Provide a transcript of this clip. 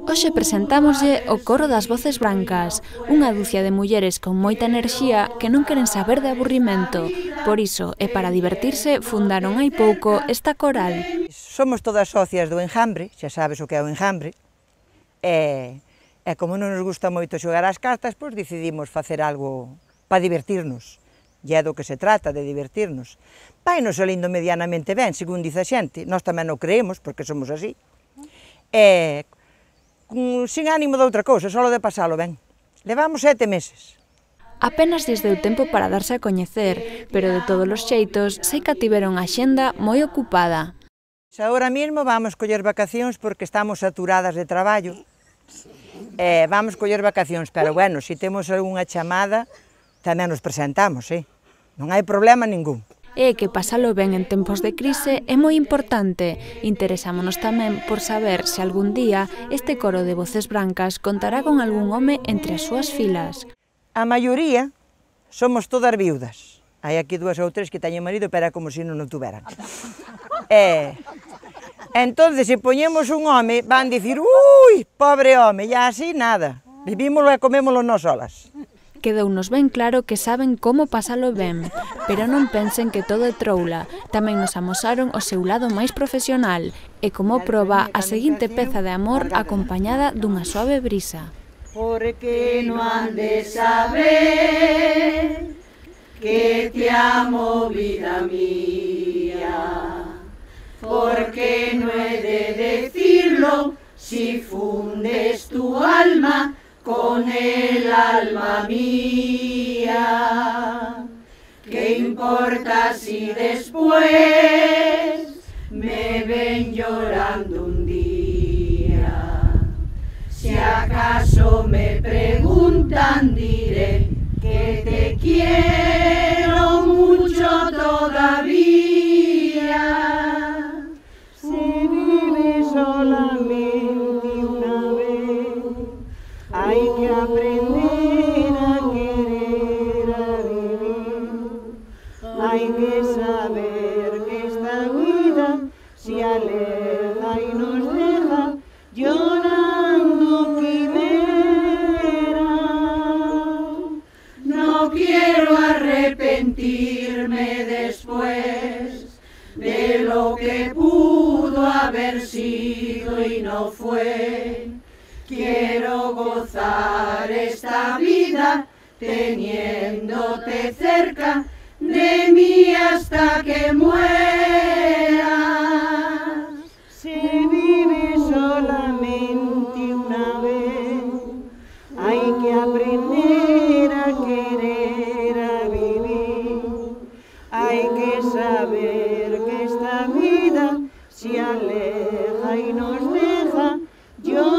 Hoxe presentámoslle o Coro das Voces Brancas, unha ducia de mulleres con moita enerxía que non queren saber de aburrimento. Por iso, e para divertirse, fundaron hai pouco esta coral. Somos todas socias do enjambre, xa sabes o que é o enjambre, e como non nos gusta moito xogar ás cartas, pois decidimos facer algo para divertirnos. E é do que se trata, de divertirnos. Vai nos salindo medianamente ben, según dice a xente, nós tamén o creemos, porque somos así. Sin ánimo de outra cousa, só de pasalo ben. Levamos 7 meses. Apenas lles deu tempo para darse a coñecer, pero de todos os xeitos, sei que tiveron a xenda moi ocupada. Agora mesmo vamos coller vacacións porque estamos saturadas de traballo. Vamos coller vacacións, pero bueno, se temos algunha chamada, tamén nos presentamos, non hai problema ningún. E que pasalo ben en tempos de crise é moi importante. Interesámonos tamén por saber se algún día este coro de Voces Brancas contará con algún home entre as súas filas. A maioría somos todas viudas. Hai aquí 2 ou 3 que teñen marido, pero é como se non o tuveran. Entón, se poñemos un home, van dicir, ui, pobre home, e así nada. Vivímolo e comémolo nós solas. Quedounos ben claro que saben como pasalo ben, pero non pensen que todo é troula. Tamén nos amosaron o seu lado máis profesional e como proba a seguinte peza de amor acompañada dunha suave brisa. Porque non han de saber que te amo, vida mía, porque no he de decirlo si fundes tu alma con el alma mía. ¿Qué importa si después me ven llorando un día? Si acaso me preguntan, diré que te quiero mucho todavía. Si vives solamente una vez, hay que aprender a querer, a vivir. Hay que saber que esta vida se aleja y nos deja llorando quimeras. No quiero arrepentirme después de lo que pudo haber sido y no fue. Quiero gozar esta vida teniéndote cerca de mí hasta que muera. Si vives solamente una vez, hay que aprender a querer, a vivir. Hay que saber que esta vida se aleja y nos deja llorar.